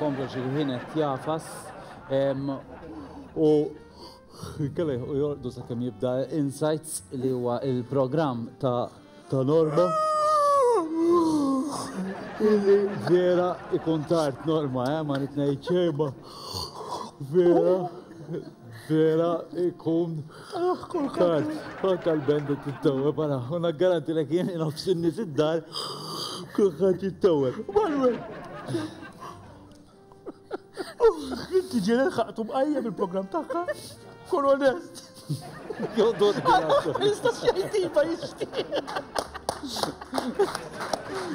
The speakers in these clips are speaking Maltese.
nkomplu xi ħin qed jafas u Inkella jilħqu jorqdu sakemm jibda Insights li huwa il-programm ta' ta' Norma. Illi vera ikun tard Norma, eh, ma rrid ngħid xejn ma vera vera ikun tard. Anka l-band qed tittewweb ara, u naggarantilek jien nofs in-nies id-dar kulħadd jittewweb. Manuel! Inti ġieli lħaqtu mqajjem il-programm tagħha? Kun onest. Jista' xejn tipa jixtieq.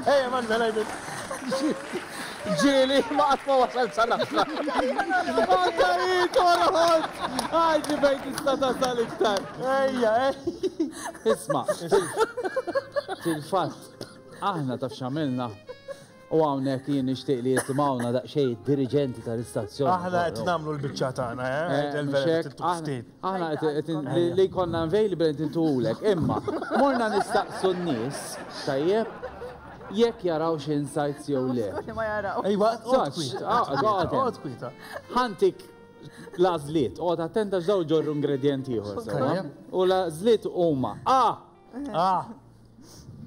Ejja, Manuel, għajdet. Ġieli, ma qatt ma wasal sa l-aħħar. Anka hi torħod! Għajdi fejn tista' tasal iktar. Ejja, ejja. Isma' fil-fatt, aħna taf x'għamilna? U hawnhekk jien nixtieq li jisimgħuna daqsxejn id-diriġenti tal-istazzjon. Aħna qed nagħmlu l-biċċa tagħna, eh? eh, aħna qed li jkollna available qed intuhulek. Imma morna nistaqsu n-nies, tajjeb, jekk jaraw xi insights jew le. Ejwa, Ħantik l-għażliet, oqgħod attent għax dawn ġorru ingredjent ieħor sewwa. U l-għażliet huma A. A.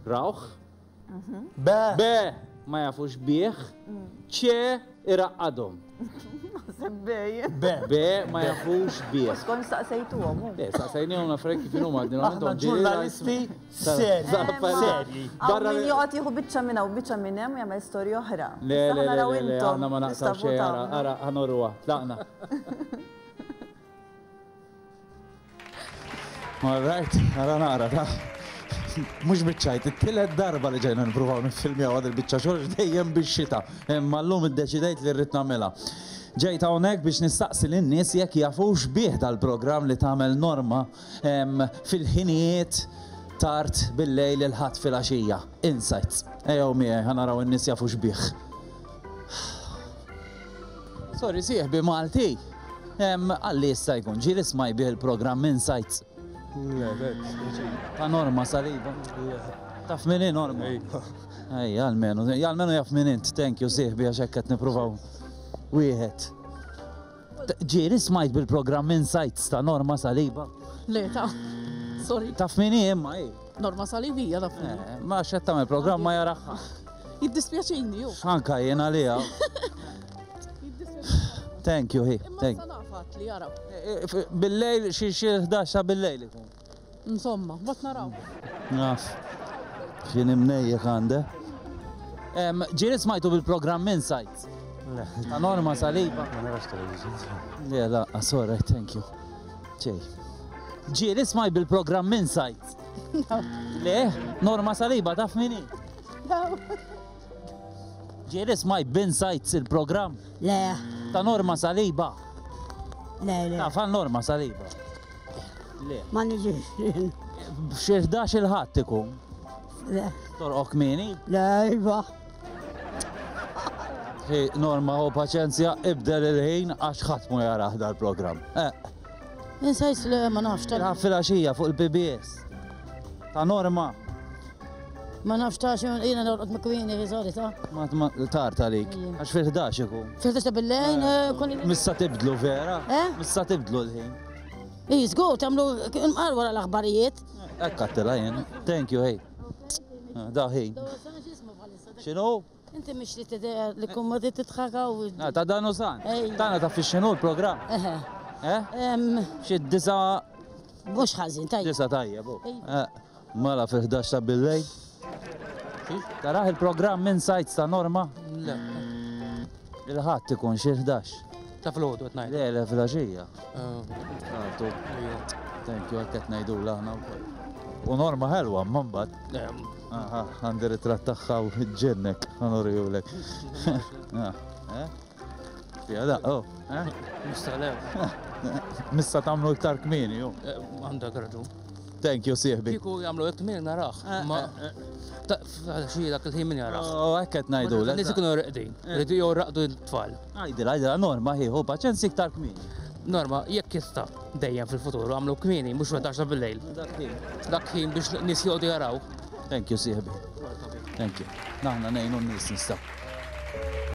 Rawh. B. B. Ma jafux bih. C. Iraqqadhom. Naħseb B. B. B. Ma jafux bih. Skont staqsejtuhom. Le, staqsejnihom l-affarijiet kif inhuma Aħna ġurnalisti serji. Serji. Barra min joqgħod jieħu biċċa minn hawn biċċa minn hemm u jagħmel storja oħra. Le, le, le, le, aħna ma naqtgħu xejn, ara, ara, ħa noruha. Tlaqna. All right, ara naqra ta' mhux biċ-ċajt, it-tielet darba li ġejna nippruvaw niffilmjaw għad il-biċċa xogħol dejjem bix-xita, imma llum iddeċidejt li rrid nagħmilha. Ġejt hawnhekk biex nistaqsi lin-nies jekk jafux bih dal-programm li tagħmel Norma fil-ħinijiet tard bil-lejl il-Ħadd filgħaxija. Insights. Ejjew miegħi ħa naraw in-nies jafux bih. Sorry sieħbi Malti. Għalli jista' jkun ġieli smaj bih il-programm Insights. Le, le, Ta' Norma Saliba. Taf min hi Norma? Ej, almenu, almenu jaf min int, thank you sieħbi għax hekk qed nippruvaw wieħed. Ġieli smajt bil-programm Insights ta' Norma Saliba? Le, ta' sorry. Taf min hi imma hi? Norma Saliba hija taf min hi. Eh, ma x'qed tagħmel programm ma jaraha. Jiddispjaċini ju. Anka jien għaliha. Thank you, hi. Thank you. Nafat li jaraw. Eh, eh, bil-lejl xi xi 11 ta' bil-lejl ikun. Insomma, bat naraw. Naf. X'in imnejjek għande. Ġieli smajtu bil-programm Insight? Le. Ta' Norma Saliba. Ma narax television. Le, la, sorry, thank you. Ċej. Ġieli smajt bil-programm Insight? Le, Norma Saliba taf min hi? Ġieli smajt b'Insights il-programm? Le. Ta' Norma Saliba. Le, le. Taf għal Norma Saliba? Le. Ma niġix. Xi 11 il-ħadd ikun. Le. Torqok kmieni? Le, iva. Hi, Norma, hu paċenzja, ibdel il-ħin għax ħadd mu jarah dal-programm. Eh. Insajt le ma nafx tal. Tilħab fil-għaxija fuq il-PBS. Ta' Norma. Ma nafx ta' xi jiena norqod ma' kwieni sorry ta'. Ma tard għalik. Għax fil-11 ikun. Fil-11 ta' bil-lejn eh, kun. Missa tibdlu vera? Eh? Missa tibdlu l-ħin. Ij, żgur tagħmlu imqar wara l-aħbarijiet. Hekk għattilha jien. Thank you, hey. Ah, da ħin. X'inhu? Inti mhix li tidher li kun ma titħaka u. Ah, ta' dan u san. Tagħna taf x'inhu l-programm. Eh? Xi disa. Mhux ħażin tajjeb. Disa tajjeb. Eh, mela fil-11 ta' billejl. Taraħ il-programm Insights ta' Norma? Le. Il-ħadd ikun xi 11. Ta' filgħodu qed ngħid. Le, le filgħaxija. Għartu. Thank you, hekk qed ngħidulha aħna wkoll. U Norma ħelwa, imma mbagħad. Aha, għandi ritratt tagħha u ġennek, ħa nurihulek. Eh? Fija da, oh. Eh? Mista le. Mista tagħmlu iktar kmieni, ju. Eh, għandek raġun. Thank you, sieħbi. Kieku jagħmlu hekk kmieni narah. Eh, Ma xi dak il-ħin min jarah. Oh, hekk qed ngħidu. Nies ikunu reqdin. Rridu jew raqdu t-tfal. Għidilha, għidilha Norma hi, ħu paċenzi iktar kmieni. Norma, jekk jista' dejjem fil-futur għamlu kmieni mhux fil-11 bil-lejl. Dak ħin. Dak ħin biex nies joqogħdu jaraw. Thank you, sieħbi. Thank you. Naħna ngħinu n-nies nistgħu.